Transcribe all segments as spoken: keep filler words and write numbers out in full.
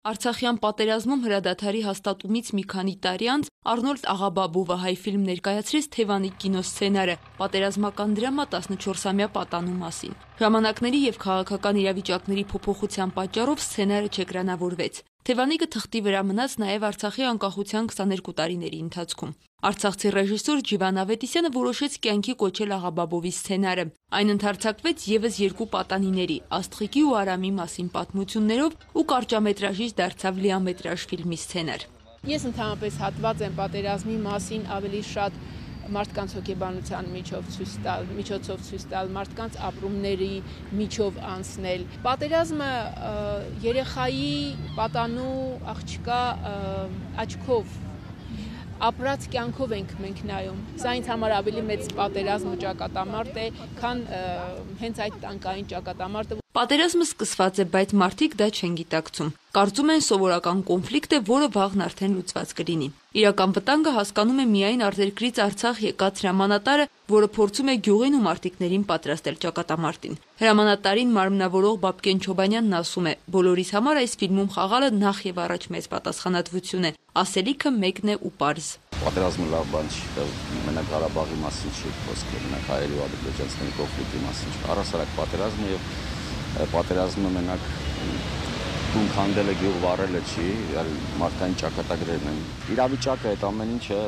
Արցախյան պատերազմում հրադադարի հաստատումից մի քանի տարի անց Արնոլդ Աղաբաբովը հայ ֆիլմ ներկայացրեց Թևանի կինոսցենարը, պատերազմական դրամա տասնչորսամյա պատանու մասին։ Ժամանակների եւ քաղաքական իրավիճակների փոփոխության պատճառով սցենարը չէկրանավորվեց։ Թևանիկը թղթի վրա մնաց նաև Արցախի անկախության քսաներկու տարիների ընթացքում։ Արցախցի ռեժիսոր Ջիվան Ավետիսյանը որոշեց կյանքի կոչել Աղաբաբովի սցենարը։ Այն ընդարձակվեց եւս երկու պատանիների՝ Աստղիկի ու Արամի մասին պատմություններով ու կարճամետրաժից դարձավ լիամետրաժ ֆիլմի սցենար։ Ես ընդհանրապես հատված եմ պատերազմի մասին ավելի շատ մարդկանց հոգեբանության միջով ցույց տալ, միջոցով ցույց տալ, մարդկանց ապրումների միջով անցնել։ Պատերազմը երեխայի պատանու աղջկա աչքով ապրած կյանքով ենք մենք նայում։ Սա ինձ համար ավելի մեծ պատերազմ ու ճակատամարտ է, քան հենց այդ տանկային ճակատամարտը։ Պատերազմը սկսված է, բայց մարդիկ դա չեն գիտակցում։ Կարծում են սովորական կոնֆլիկտ է, որը վաղն արդեն լուծված կլինի։ Իրական վտանգը հասկանում է միայն արտերկրից Արցախ եկած հրամանատարը, որը փորձում է գյուղին ու մարտիկներին պատրաստել ճակատամարտին։ Հրամանատարին մարմնավորող Բաբկեն Չոբանյանն ասում է. բոլորիս համար այս ֆիլմում խաղալը նախ եւ առաջ մեծ պատասխանատվություն է, ասելիքը մեկն է ու պարզ։ Պատերազմը լավ բան չի, մենակ Ղարաբաղի մասին չի խոսքը, մենակ հայերի ու ադրբեջանցիների կոնֆլիկտի մասին չի։ Առհասարակ պատերազմը եւ պատերազմը մենակ տուն քանդելը գյուղ վառելը չի, մարդկային ճակատագրերն են։ Իրավիճակը այդ ամեն ինչը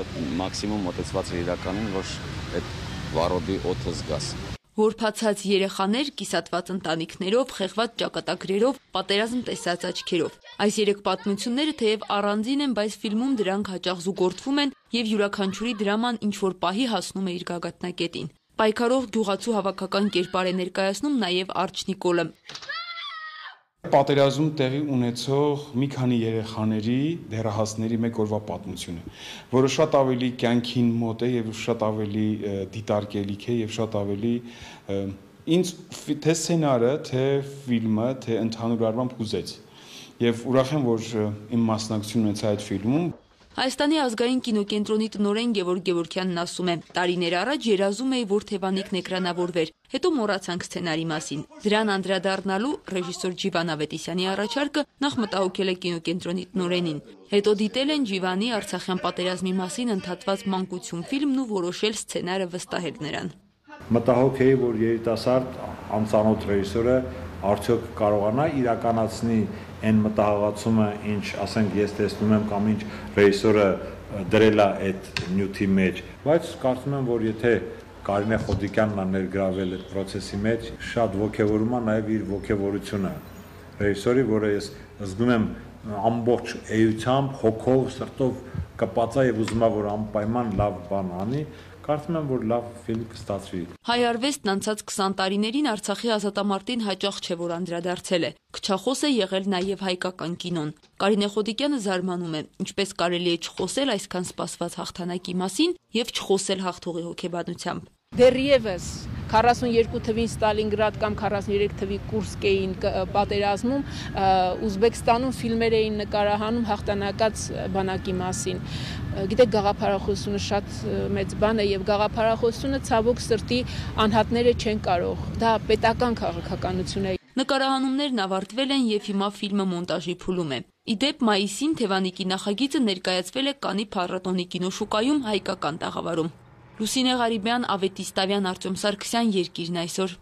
մաքսիմում մոտեցված է իրականին, որ այդ վառոդի օդը զգաս։ Որփացած երեխաներ, կիսատված ընտանիքներով, խեղված ճակատագրերով, պատերազմ տեսած աչքերով։ Այս երեք պատմությունները թեև առանձին են, բայց ֆիլմում դրանք հաճախ զուգորդվում են եւ յուրաքանչյուրի դրաման ինչ-որ պահի հասնում է իր գագաթնակետին։ Պայքարող գյուղացու հավաքական կերպար է ներկայացնում նաև Արչ Նիկոլը։ Պատերազմ տեղի ունեցող մի քանի երեխաների դեռահասների մեկ օրվա պատմություն է, որը շատ ավելի կյանքին մոտ է եւ շատ ավելի դիտարկելիք է եւ շատ ավելի ինձ թե սցենարը, թե ֆիլմը, թե ընդհանուր առմամբ հուզեց։ Եվ ուրախ եմ, որ իմ մասնակցությունն ունեցա այդ ֆիլմում։ Հայաստանի ազգային կինոկենտրոնի տնօրեն Գևորգ Գևորգյանն ասում է. տարիներ առաջ երազում էի, որ Թևանիկն էկրանավորվեր, հետո մոռացանք սցենարի մասին։ Դրան անդրադառնալու ռեժիսոր Ջիվան Ավետիսյանի առաջարկը նախ մտահոգել է կինոկենտրոնի տնօրենին։ Հետո դիտել են Ջիվանի Արցախյան պատերազմի մասին ընդհատված մանկություն ֆիլմն ու որոշել սցենարը վստահել նրան։ Մտահոգ էի, որ երիտասարդ անծանոթ ռեժիսորը արդյոք կարողանա իրականացնի այն մտահղացումը, ինչ, ասենք, ես տեսնում եմ կամ ինչ ռեժիսորը դրել է այդ նյութի մեջ, բայց կարծում եմ, որ եթե Կարինե Խոդիկյանն է ներգրավել այդ process-ի մեջ, շատ ոգևորում է նաև իր ոգևորությունը ռեժիսորի, որը ես զգում եմ ամբողջ էությամբ, հոգով, սրտով կպած է եւ ուզում է, որ անպայման լավ բան անի։ Կարծում եմ, որ լավ ֆիլմ կստացվի։ Հայ արվեստն անցած քսան տարիներին Արցախի ազատամարտին հաճախ չէ, որ անդրադարձել է։ Քչախոս է եղել նաև հայկական կինոն։ Կարինե Խոդիկյանը զարմանում է, ինչպես կարելի է չխոսել այսքան սպասված հաղթանակի մասին եւ չխոսել հաղթողի հոգեբանությամբ։ Դեռևս քառասունյոթ թվին Ստալինգրադ կամ քառասուներեք թվի Կուրսկ էին պատերազմում, Ուզբեկստանում ֆիլմեր էին նկարահանում հաղթանակած բանակի մասին։ Գիտեք, գաղափարախոսությունը շատ մեծ բան է եւ գաղափարախոսությունը ցավոք սրտի անհատները չեն կարող։ Դա պետական քաղաքականություն է։ Նկարահանումներն ավարտվել են եւ հիմա ֆիլմը մոնտաժի փուլում է։ Իդեպ մայիսին Թևանիկի նախագիծը ներկայացվել է Կանի փառատոնի կինոշուկայում հայկական տաղավարում։ Լուսինե Ղարիբյան, Ավետիս Տավյան, Արտյոմ Սարգսյան, Երկիրն այսօր։